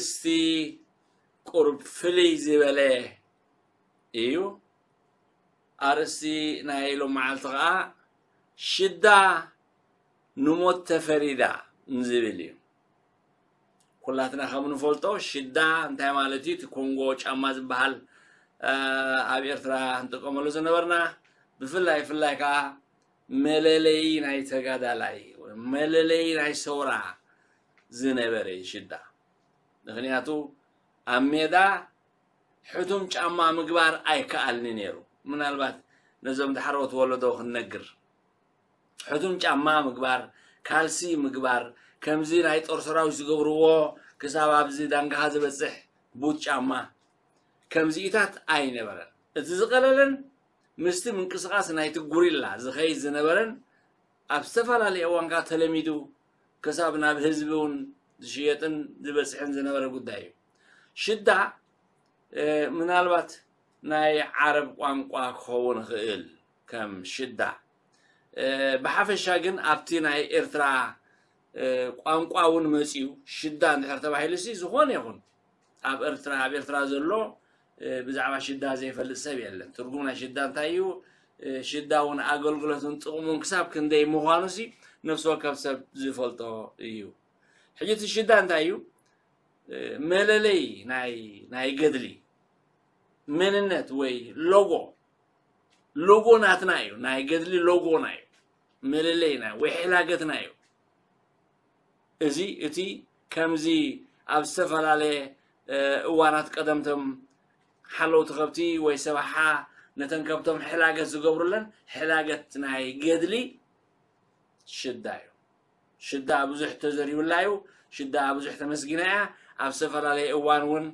ኣርእስቲ ቁሩብ ፍልይ ዝበለ እዩ። ኣርእስቲ ናይ ሎም መዓልቲ ኸዓ ሽዳ ንሞት ተፈሪዳ ዝብል እዩ። ኩላትና ከም ንፈልጦ ሽዳ እንታይ ማለት እዩ? እቲ ኮንጎ ጫማ ዝበሃል ኣብ ኤርትራ ንጥቀመሉ ዝነበርና፣ ብፍላይ ፍላይ ከዓ መለለይ ናይ ተጋዳላይ፣ መለለይ ናይ ሰውራ ዝነበረ እዩ ሽዳ። ምክንያቱ ኣብ ሜዳ ሕቱም ጫማ ምግባር ኣይከኣልኒ ነይሩ። ምናልባት ነዞም ዳሕረዎት ወለዶ ክንነግር፣ ሕቱም ጫማ ምግባር፣ ካልሲ ምግባር፣ ከምዚ ናይ ጦር ሰራዊት ዝገብርዎ ክሳብ ኣብዚ ዳንጋኻ ዝበፅሕ ቡት ጫማ፣ ከምዚኢታት ኣይነበረን። እቲ ዝቐለለን ምስቲ ምንቅስቓስ ናይቲ ጉሪላ ዝኸይድ ዝነበረን ኣብ ዝተፈላለየ እዋን ከዓ ተለሚዱ ክሳብ ናብ ህዝቢ እውን ዝሽየጥን ዝበፅሕን ዝነበረ ጉዳይ እዩ። ሽዳ ምናልባት ናይ ዓረብ ቋንቋ ክኸውን ይኽእል ከም ሽዳ። ብሓፈሻ ግን ኣብቲ ናይ ኤርትራ ቋንቋ እውን መፅዩ ሽዳ እንድሕር ተባሂሉ ሲ ዝኾነ ይኹን ኣብ ኤርትራ ኣብ ኤርትራ ዘሎ ብዛዕባ ሽዳ ዘይፈልጥ ሰብ የለን። ትርጉም ናይ ሽዳ እንታይ እዩ? ሽዳ እውን ኣገልግሎትን ጥቕሙን ክሳብ ክንደይ ምዃኑ ሲ ነፍሲ ወከፍ ሰብ ዝፈልጦ እዩ። ሕጂ እቲ ሽዳ እንታይ እዩ? መለለይ ናይ ናይ ገድሊ መንነት ወይ ሎጎ፣ ሎጎ ናትና እዩ። ናይ ገድሊ ሎጎና እዩ። መለለይና ወይ ሕላገትና እዩ። እዚ እቲ ከምዚ ኣብ ዝተፈላለየ እዋናት ቀደምቶም ሓለውቲ ከብቲ ወይ ሰባሓ ነተን ከብቶም ሕላገት ዝገብሩለን ሕላገት ናይ ገድሊ ሽዳ እዩ። ሽዳ ብዙሕ ተዘሪቡላ እዩ። ሽዳ ብዙሕ ተመስጊና እያ። ኣብ ዝተፈላለየ እዋን እውን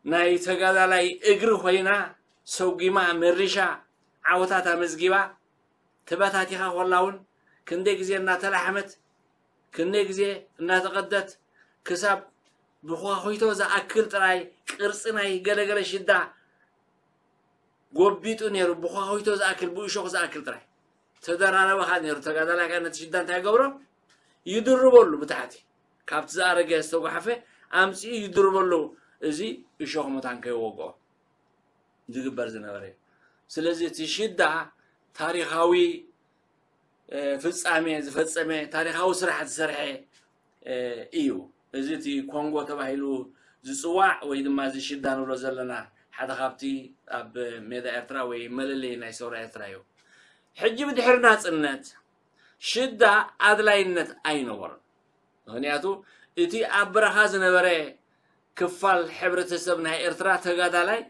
ናይ ተጋዳላይ እግሪ ኮይና ሰጒማ መሪሻ ዓወታት ኣመዝጊባ ተበታቲኻ ኮላ እውን ክንደይ ግዜ እናተላሕመት ክንደይ ግዜ እናተቐደት ክሳብ ብኳኹይቶ ዝኣክል ጥራይ ቅርፂ ናይ ገለገለ ሽዳ ጎቢጡ ነይሩ። ብኳኹይቶ ዝኣክል ብእሾኽ ዝኣክል ጥራይ ተደራረበኻ ነይሩ። ተጋዳላይ ከ ነቲ ሽዳ እንታይ ገብሮ? ይድርበሉ ብታሕቲ ካብቲ ዝኣረገ ዝተጓሓፈ ኣምፅኡ ይድርበሉ። እዚ እሾኽ መታን ከይወግኦ ዝግበር ዝነበረ እዩ። ስለዚ እቲ ሽዳ ታሪኻዊ ፍጻሜ ዝፈጸመ ታሪኻዊ ስራሕ ዝሰርሐ እዩ። እዚ እቲ ኮንጎ ተባሂሉ ዝጽዋዕ ወይ ድማ እዚ ሽዳ ንብሎ ዘለና ሓደ ካብቲ ኣብ ሜዳ ኤርትራ ወይ መለለይ ናይ ሰውራ ኤርትራ እዩ። ሕጂ ብድሕሪ ናጽነት ሽዳ ኣድላይነት ኣይነበሮን። ምክንያቱ እቲ ኣብ በረኻ ዝነበረ ክፋል ሕብረተሰብ ናይ ኤርትራ ተጋዳላይ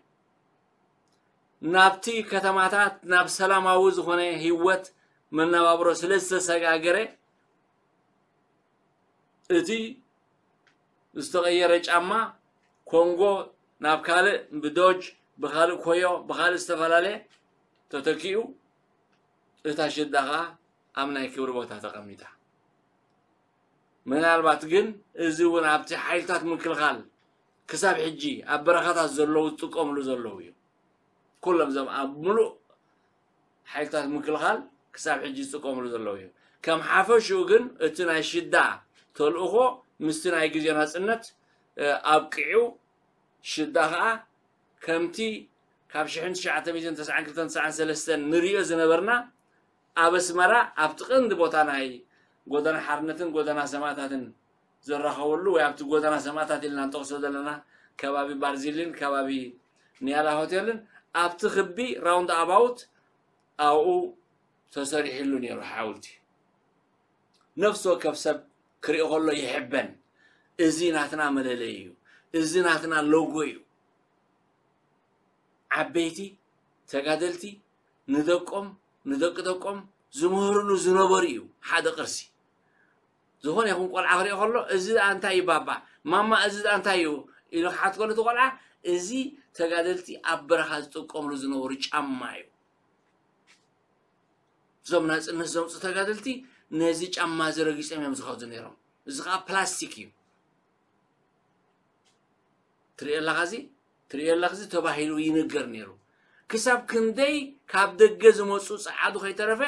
ናብቲ ከተማታት ናብ ሰላማዊ ዝኾነ ህይወት መነባብሮ ስለ ዝተሰጋገረ እቲ ዝተቐየረ ጫማ ኮንጎ ናብ ካልእ ብዶጅ ብኻልእ ኮዮ ብኻልእ ዝተፈላለየ ተተኪኡ እታ ሽዳ ኸዓ ኣብ ናይ ክብሪ ቦታ ተቐሚጣ። ምናልባት ግን እዚ እውን ኣብቲ ሓይልታት ምክልኻል ክሳብ ሕጂ ኣብ በረኻታት ዘለዉ ዝጥቀምሉ ዘለዉ እዩ። ኩሎም እዞም ኣብ ሙሉእ ሓይልታት ምክልኻል ክሳብ ሕጂ ዝጥቀምሉ ዘለዉ እዩ። ከም ሓፈሽኡ ግን እቲ ናይ ሽዳ ተልእኾ ምስቲ ናይ ግዜ ናጽነት ኣብቂዑ ሽዳ ኸዓ ከምቲ ካብ ሽሕን ትሽዓተ ሚእትን ተስዓን ክልተን ተስዓን ሰለስተን ንሪኦ ዝነበርና ኣብ ኣስመራ ኣብቲ ቀንዲ ቦታ ናይ ጎደና ሓርነትን ጎደና ሰማእታትን ዝራኸበሉ ወይ ኣብቲ ጎደና ሰማእታት ኢልና ንጠቕሶ ዘለና ከባቢ ባርዚሊን ከባቢ ኒያላ ሆቴልን ኣብቲ ክቢ ራውንድ ኣባውት ኣብኡ ተሰሪሕሉ ነይሩ ሓውልቲ። ነፍሲ ወከፍ ሰብ ክርኢ ከሎ ይሕበን። እዚ ናትና መለለይ እዩ። እዚ ናትና ሎጎ እዩ። ዓበይቲ ተጋደልቲ ንደቆም ንደቂ ደቆም ዝምህርሉ ዝነበሩ እዩ ሓደ ቅርሲ። ዝኾነ ይኹን ቆልዓ ክርኢ ከሎ እዚ ደኣ እንታይ እዩ ባባ ማማ እዚ ደኣ እንታይ እዩ ኢሉ ክሓት ከሎ እቲ ቆልዓ እዚ ተጋደልቲ ኣብ በረኻ ዝጥቀምሉ ዝነበሩ ጫማ እዩ። እዞም ናፅነት ዘምፁ ተጋደልቲ ነዚ ጫማ እዚ ረጊፆም እዮም ዝኸዱ ነይሮም። እዚ ከዓ ፕላስቲክ እዩ። ትሪኦ ኣለኻ እዚ ትሪኦ ኣለኻ እዚ ተባሂሉ ይንገር ነይሩ። ክሳብ ክንደይ ካብ ደገ ዝመፁ ፀዓዱ ከይተረፈ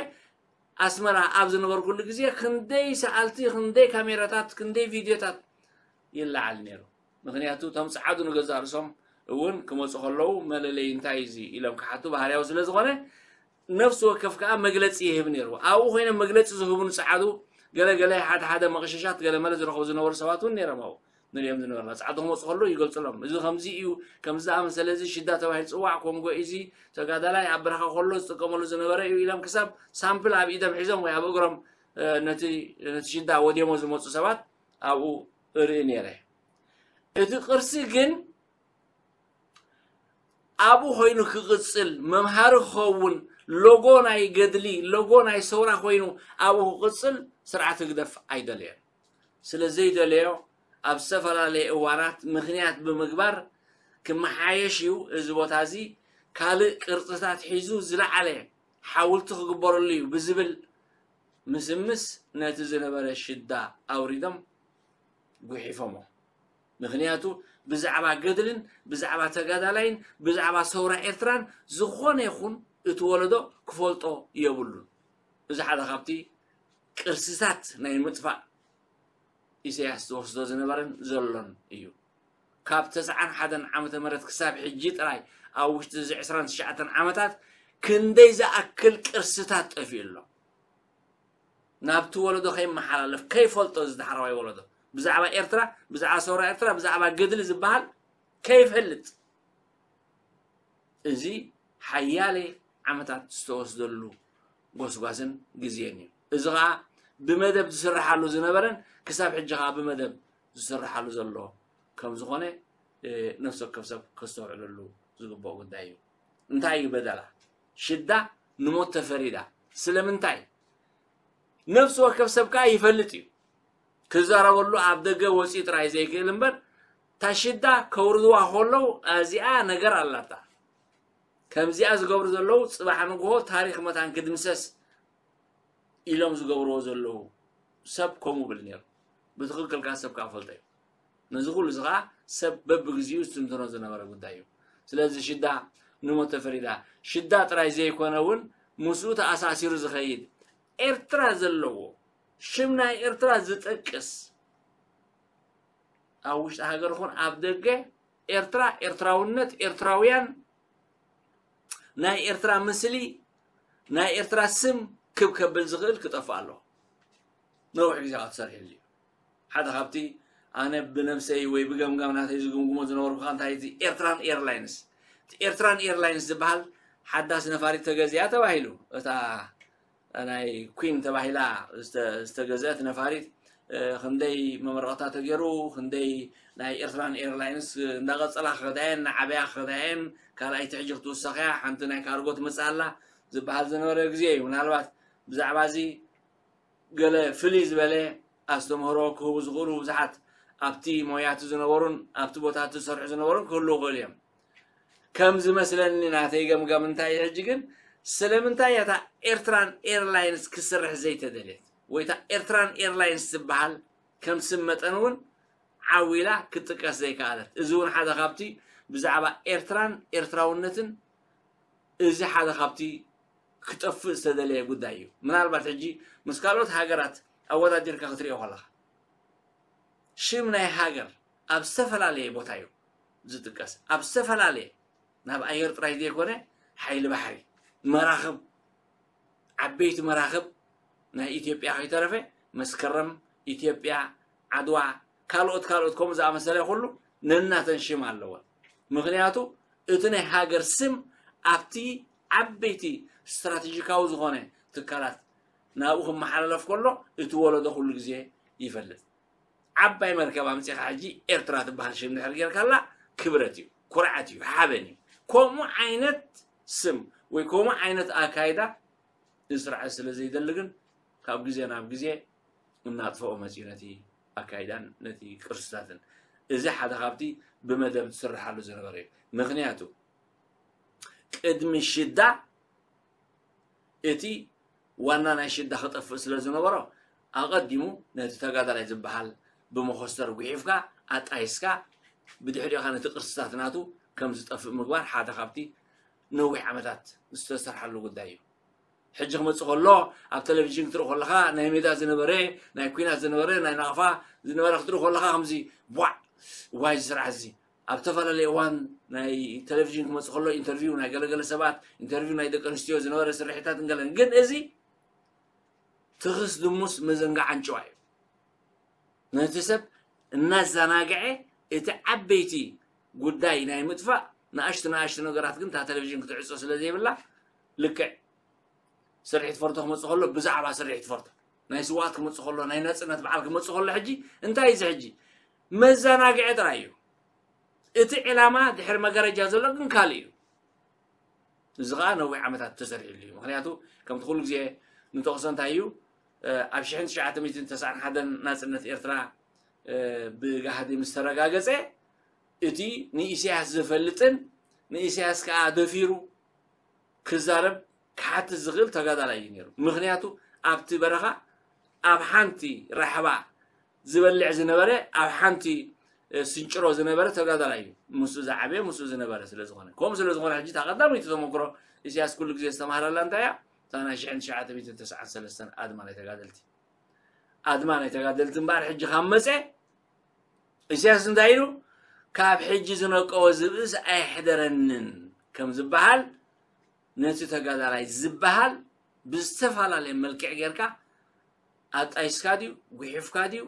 ኣስመራ ኣብ ዝነበርኩሉ ግዜ ክንደይ ሰኣልቲ ክንደይ ካሜራታት ክንደይ ቪድዮታት ይለዓል ነይሩ። ምክንያቱ እቶም ጸዓዱ ንገዛእ ርእሶም እውን ክመፁ ከለዉ መለለይ እንታይ እዚ ኢሎም ክሓቱ ባህርያዊ ስለ ዝኾነ ነፍሲ ወከፍ ከዓ መግለፂ ይህብ ነይሩ። ኣብኡ ኮይኖም መግለፂ ዝህቡን ጸዓዱ ገለ ገለ ሓደ ሓደ መቕሸሻት ገለ መለ ዝረኸቡ ዝነበሩ ሰባት እውን ነይሮም። ኣብኡ ንሪኦም ዝነበርና ጸዓዱ ክመፁ ከለዉ ይገልፁሎም። እዚ ከምዚ እዩ፣ ከምዚ ዝኣመሰለ እዚ ሽዳ ተባሂሉ ዝፅዋዕ ኮንጎ እዚ ተጋዳላይ ኣብ በረኻ ከሎ ዝጥቀመሉ ዝነበረ እዩ ኢሎም ክሳብ ሳምፕል ኣብ ኢዶም ሒዞም ወይ ኣብ እግሮም ነቲ ሽዳ ወዲሞ ዝመፁ ሰባት ኣብኡ እርኢ ነይረ። እቲ ቅርሲ ግን ኣብኡ ኮይኑ ክቕጽል፣ መምሃሪ ክኸውን፣ ሎጎ ናይ ገድሊ፣ ሎጎ ናይ ሰውራ ኮይኑ ኣብኡ ክቕጽል ስርዓት ህግደፍ ኣይደለየን። ስለ ዘይደለዮ ኣብ ዝተፈላለየ እዋናት ምኽንያት ብምግባር ክመሓየሽ እዩ። እዚ ቦታ እዚ ካልእ ቅርጽታት ሒዙ ዝለዓለ ሓውልቲ ክግበረሉ እዩ ብዝብል ምስምስ ነቲ ዝነበረ ሽዳ ኣውሪዶም ጉሒፎሞ። ምኽንያቱ ብዛዕባ ገድልን ብዛዕባ ተጋዳላይን ብዛዕባ ሰውራ ኤርትራን ዝኾነ ይኹን እቲ ወለዶ ክፈልጦ የብሉን። እዚ ሓደ ካብቲ ቅርስታት ናይ ምጥፋእ ኢሳያስ ዝወስዶ ዝነበረን ዘሎን እዩ። ካብ ተስዓን ሓደን ዓመተ ምህረት ክሳብ ሕጂ ጥራይ ኣብ ውሽጢ እዚ ዕስራን ትሽዓተን ዓመታት ክንደይ ዝኣክል ቅርስታት ጠፊኡ ኣሎ። ናብቲ ወለዶ ከይመሓላለፍ ከይፈልጦ እዚ ዳሕረዋይ ወለዶ ብዛዕባ ኤርትራ፣ ብዛዕባ ሰውራ ኤርትራ፣ ብዛዕባ ገድሊ ዝበሃል ከይፈልጥ እዚ ሓያለ ዓመታት ዝተወስደሉ ጎስጓስን ግዜን እዩ። እዚ ኸዓ ብመደብ ዝስርሓሉ ዝነበረን ክሳብ ሕጂ ኸዓ ብመደብ ዝስርሓሉ ዘሎ ከም ዝኾነ ነፍሲ ወከፍ ሰብ ከስተውዕለሉ ዝግብኦ ጉዳይ እዩ። እንታይ እዩ በደላ? ሽዳ ንሞት ተፈሪዳ። ስለምንታይ? ነፍሲ ወከፍ ሰብ ከኣ ይፈልጥ እዩ። ክዛረበሉ ኣብ ደገ ወፂኡ ጥራይ ዘይክእል እምበር እታ ሽዳ ከውርድዋ ከለዉ እዚኣ ነገር ኣላታ። ከምዚኣ ዝገብሩ ዘለዉ ጽባሕ ንግሆ ታሪኽ መታን ክድምሰስ ኢሎም ዝገብርዎ ዘለዉ ሰብ ከምኡ ብል ነይሩ። ብትኽክል ከኣ ሰብ ከኣ ፈልጦ እዩ። ነዚ ኩሉ እዚ ከኣ ሰብ በብግዚኡ ዝትንትኖ ዝነበረ ጉዳይ እዩ። ስለዚ ሽዳ ንሞት ተፈሪዳ። ሽዳ ጥራይ ዘይኮነ እውን ምስኡ ተኣሳሲሩ ዝኸይድ ኤርትራ ዘለዎ ሽም ናይ ኤርትራ ዝጠቅስ ኣብ ውሽጢ ሃገር ይኹን ኣብ ደገ ኤርትራ፣ ኤርትራውነት፣ ኤርትራውያን ናይ ኤርትራ ምስሊ ናይ ኤርትራ ስም ክብ ከብል ዝኽእል ክጠፍእ ኣለዎ። ነዊሕ ግዜ ክትሰርሕሉ እዩ። ሓደ ካብቲ ኣነ ብነብሰይ ወይ ብገምጋም ናተይ ዝግምግሞ ዝነበርኩ ከኣ እንታይ እቲ ኤርትራን ኤርላይንስ፣ እቲ ኤርትራን ኤርላይንስ ዝበሃል ሓዳስ ነፋሪት ተገዚኣ ተባሂሉ እታ ናይ ኩን ተባሂላ ዝተገዝአት ነፋሪት ክንደይ መመረቕታ ተገይሩ፣ ክንደይ ናይ ኤርትራን ኤርላይንስ እንዳቐጸላ ክኸዳየን እናዓበያ ክኸዳየን ካልኣይቲ ሕጂ ክትውሰኸያ ሓንቲ ናይ ካርጎ ትመጽእ ኣላ ዝበሃል ዝነበረ ግዜ እዩ። ምናልባት ብዛዕባ እዚ ገለ ፍልይ ዝበለ ኣስተምህሮ ክህቡ ዝኽእሉ ብዙሓት ኣብቲ ሞያቲ ዝነበሩን ኣብቲ ቦታቲ ዝሰርሑ ዝነበሩን ክህልዉ ይኽእሉ እዮም። ከም ዝመስለኒ ናተይ ገምጋም እንታይ እዩ ሕጂ ግን ስለምንታይ እያ እታ ኤርትራን ኤርላይንስ ክስርሕ ዘይተደልየት ወይ እታ ኤርትራን ኤርላይንስ ዝበሃል ከም ስም መጠን እውን ዓው ኢላ ክትጥቀስ ዘይከኣለት? እዚ እውን ሓደ ካብቲ ብዛዕባ ኤርትራን ኤርትራውነትን እዚ ሓደ ካብቲ ክጠፍእ ዝተደለየ ጉዳይ እዩ። ምናልባት ሕጂ ምስ ካልኦት ሃገራት ኣወዳዲርካ ክትሪኦ ከለኻ ሽም ናይ ሃገር ኣብ ዝተፈላለየ ቦታ እዩ ዝጥቀስ። ኣብ ዝተፈላለየ ናብ ኣየር ጥራይ ዘይኮነ ሓይሊ ባሕሪ፣ መራኽብ፣ ዓበይቲ መራኽብ ናይ ኢትዮጵያ ከይተረፈ መስከረም፣ ኢትዮጵያ፣ ዓድዋ፣ ካልኦት ካልኦት ከምኡ ዝኣመሰለ ኩሉ ነናተን ሽም ኣለወን። ምክንያቱ እቲ ናይ ሃገር ስም ኣብቲ ዓበይቲ ስትራቴጂካዊ ዝኾነ ትካላት ናብኡ ክመሓላለፍ ከሎ እቲ ወለዶ ኩሉ ግዜ ይፈልጥ። ዓባይ መርከብ ኣምጺኻ ሕጂ ኤርትራ ትበሃል ሽም ድሕር ጌርካላ ክብረት እዩ፣ ኩርዓት እዩ፣ ሓበን እዩ። ከምኡ ዓይነት ስም ወይ ከምኡ ዓይነት ኣካይዳ እዚ ስርዓት ስለ ዘይደሊ ግን ካብ ግዜ ናብ ግዜ እናጥፈኦ መፅዩ ነቲ ኣካይዳን ነቲ ቅርስታትን። እዚ ሓደ ካብቲ ብመደብ ዝስርሓሉ ዝነበረ እዩ። ምክንያቱ ቅድሚ ሽዳ እቲ ዋና ናይ ሽዳ ክጠፍእ ስለ ዝነበሮ ኣቐዲሙ ነቲ ተጋዳላይ ዝበሃል ብመኾስተር ጉሒፍካ ኣጣይስካ ብድሕሪኡ ከኣ ነቲ ቅርስታት ናቱ ከም ዝጠፍእ ምግባር ሓደ ካብቲ ነዊሕ ዓመታት ዝተሰርሓሉ ጉዳይ እዩ። ሕጂ ክመፅእ ከሎ ኣብ ቴሌቪዥን ክትርኢ ከለኻ ናይ ሜዳ ዝነበረ ናይ ኩናት ዝነበረ ናይ ናቕፋ ዝነበረ ክትርኢ ከለኻ ከምዚ ቧዕ ዋይ እዚ ስርዓት እዚ ኣብ ዝተፈላለየ እዋን ናይ ቴሌቪዥን ክመፅእ ከሎ ኢንተርቪው ናይ ገለገለ ሰባት ኢንተርቪው ናይ ደቂ ኣንስትዮ ዝነበረ ስርሒታት እንገለን ግን እዚ ትኽስ ድሙስ መዘንጋዕ ኣንጭዋ እዩ። ነቲ ሰብ እናዘናግዐ እቲ ዓበይቲ ጉዳይ ናይ ምጥፋእ ንኣሽቱ ንኣሽቱ ነገራት ግን እታ ቴሌቪዥን ክትዕጾ ስለ ዘይብላ ልክዕ ስርሒት ፈርቶ ክመጽእ ከሎ ብዛዕባ ስርሒት ፈርቶ ናይ ስዋት ክመጽእ ከሎ ናይ ነጽነት በዓል ክመጽእ ከሎ ሕጂ እንታይ እዚ ሕጂ መዘናግዒ ጥራይ እዩ። እቲ ዕላማ ድሕሪ መጋረጃ ዘሎ ግን ካልእ እዩ። እዚ ከዓ ነዊሕ ዓመታት ተሰሪሕሉ እዩ። ምክንያቱ ከምቲ ኩሉ ግዜ ንጠቕሶ እንታይ እዩ ኣብ ሽሕን ትሽዓተ ሚእትን ተስዓን ሓደን ናፅነት ኤርትራ ብጋህዲ ምስ ተረጋገፀ እቲ ንኢሳያስ ዝፈልጥን ንኢሳያስ ከዓ ደፊሩ ክዛረብ ክሓትት ዝኽእል ተጋዳላይ እዩ ነይሩ። ምክንያቱ ኣብቲ በረኻ ኣብ ሓንቲ ራሕባ ዝበልዕ ዝነበረ ኣብ ሓንቲ ስንጭሮ ዝነበረ ተጋዳላይ እዩ። ምስኡ ዝዓበየ ምስኡ ዝነበረ ስለ ዝኾነ ከምኡ ስለ ዝኾነ ሕጂ እታ ቀዳመይቲ ተመክሮ ኢሳያስ ኩሉ ግዜ ዝተማሃረላ እንታይ እያ? እታ ናይ ሽሕን ትሽዓተ ሚእትን ተስዓን ሰለስተን ኣድማ ናይ ተጋደልቲ ኣድማ ናይ ተጋደልቲ እምበኣር ሕጂ ካብ መፀ ኢሳያስ እንታይ ኢሉ ካብ ሕጂ ዝነቀወ ዝብእስ ኣይሕደረንን ከም ዝበሃል ነቲ ተጋዳላይ ዝበሃል ብዝተፈላለየ መልክዕ ጌርካ ኣጣይስካ ድዩ ጉሒፍካ ድዩ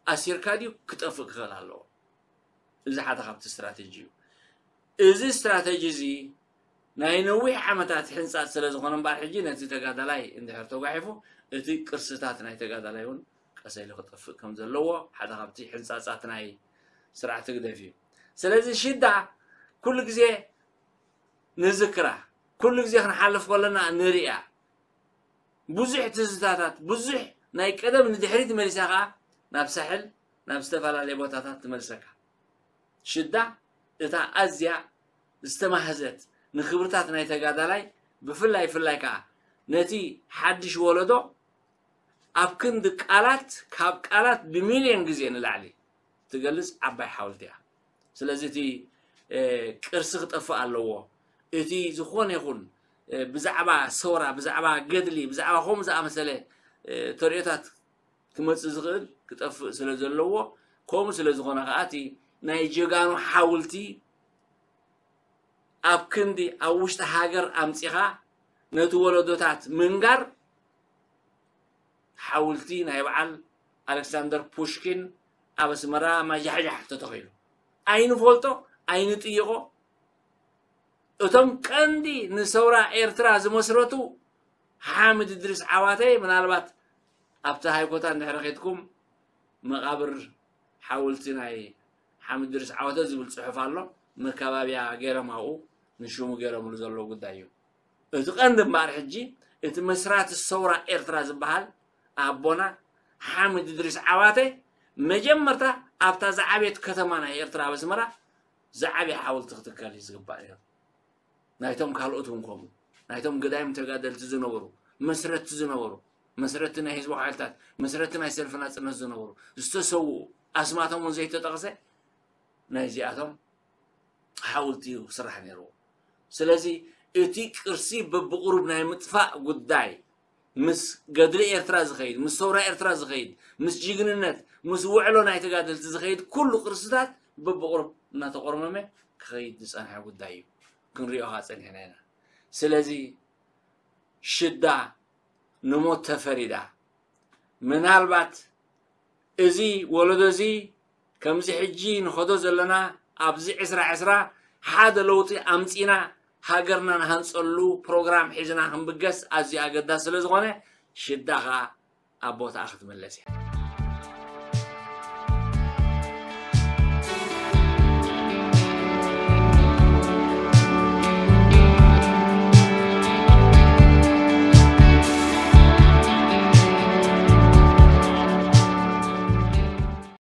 ኣሲርካ ድዩ ክጠፍእ ክኽእል ኣለዎ። እዚ ሓደ ካብቲ ስትራተጂ እዩ። እዚ ስትራተጂ እዚ ናይ ነዊሕ ዓመታት ሕንፃት ስለ ዝኾነ እምበኣር ሕጂ ነቲ ተጋዳላይ እንድሕር ተጓሒፉ እቲ ቅርስታት ናይ ተጋዳላይ እውን ቀሰ ኢሉ ክጠፍእ ከም ዘለዎ ሓደ ካብቲ ሕንፃፃት ናይ ስርዓት ህግደፍ እዩ። ስለዚ ሽዳ ኩሉ ግዜ ንዝክራ ኩሉ ግዜ ክንሓልፍ ከለና ንሪኣ ብዙሕ ትዝታታት ብዙሕ ናይ ቀደም ንድሕሪት መሊሳ ከዓ ናብ ሳሕል ናብ ዝተፈላለየ ቦታታት ትመልሰካ። ሽዳ እታ ኣዝያ ዝተማህዘት ንክብርታት ናይ ተጋዳላይ ብፍላይ ፍላይ ከዓ ነቲ ሓድሽ ወለዶ ኣብ ክንዲ ቃላት ካብ ቃላት ብሚልዮን ግዜ ንላዕሊ ትገልጽ ዓባይ ሓወልቲ እያ። ስለዚ እቲ ቅርሲ ክጠፍእ ኣለዎ። እቲ ዝኾነ ይኹን ብዛዕባ ሰውራ ብዛዕባ ገድሊ ብዛዕባ ከምኡ ዝኣመሰለ ተርእዮታት ክመፅእ ዝኽእል ክጠፍእ ስለ ዘለዎ ከምኡ ስለ ዝኾነ ከዓ እቲ ናይ ጀጋኑ ሓውልቲ ኣብ ክንዲ ኣብ ውሽጢ ሃገር ኣምፂኻ ነቲ ወለዶታት ምንጋር ሓውልቲ ናይ በዓል ኣሌክሳንደር ፑሽኪን ኣብ ኣስመራ ማጃሕጃሕ ተተኺሉ ኣይንፈልጦ ኣይንጥይቖ እቶም ቀንዲ ንሰውራ ኤርትራ ዝመስረቱ ሓምድ እድሪስ ዓዋተ ምናልባት ኣብቲ ሃይኮታ እንድሕሪ ኸድኩም መቓብር ሓውልቲ ናይ ሓምድ እድሪስ ዓዋተ ዝብል ፅሑፍ ኣሎ መካባብያ ገይሮም ኣብኡ ንሽሙ ገይሮምሉ ዘለዉ ጉዳይ እዩ። እቲ ቀንዲ እምበኣር ሕጂ እቲ መስራቲ ሰውራ ኤርትራ ዝበሃል ኣቦና ሓምድ እድሪስ ዓዋተ መጀመርታ ኣብታ ዝዓበየት ከተማ ናይ ኤርትራ ኣብ ኣስመራ ዝዓበየ ሓወልቲ ክትከል እዩ ዝግባእ ነይሩ። ናይቶም ካልኦት እውን ከምኡ ናይቶም ገዳይም ተጋደልቲ ዝነበሩ መስረትቲ ዝነበሩ መስረትቲ ናይ ህዝባዊ ሓይልታት መስረትቲ ናይ ሰልፊ ናፅነት ዝነበሩ ዝተሰውኡ ኣስማቶም እውን ዘይተጠቕሰ ናይዚኣቶም ሓውልቲ እዩ ክስራሕ ነይርዎ። ስለዚ እቲ ቅርሲ በብቕሩብ ናይ ምጥፋእ ጉዳይ ምስ ገድሊ ኤርትራ ዝኸይድ ምስ ሰውራ ኤርትራ ዝኸይድ ምስ ጅግንነት ምስ ውዕሎ ናይ ተጋደልቲ ዝኸይድ ኩሉ ቅርስታት በብቕሩብ እናተቆርመመ ክኸይድ ዝፀንሐ ጉዳይ እዩ። ክንሪኦ ከዓ ፀኒሕና ኢና። ስለዚ ሽዳ ንሞት ተፈሪዳ። ምናልባት እዚ ወለዶ እዚ ከምዚ ሕጂ ንኸዶ ዘለና ኣብዚ ዕስራ ዕስራ ሓደ ለውጢ ኣምፂና ሃገርና ንሃንፀሉ ፕሮግራም ሒዝና ክንብገስ ኣዝዩ ኣገዳሲ ስለ ዝኾነ ሽዳ ከዓ ኣብ ቦታኣ ክትምለስ እያ።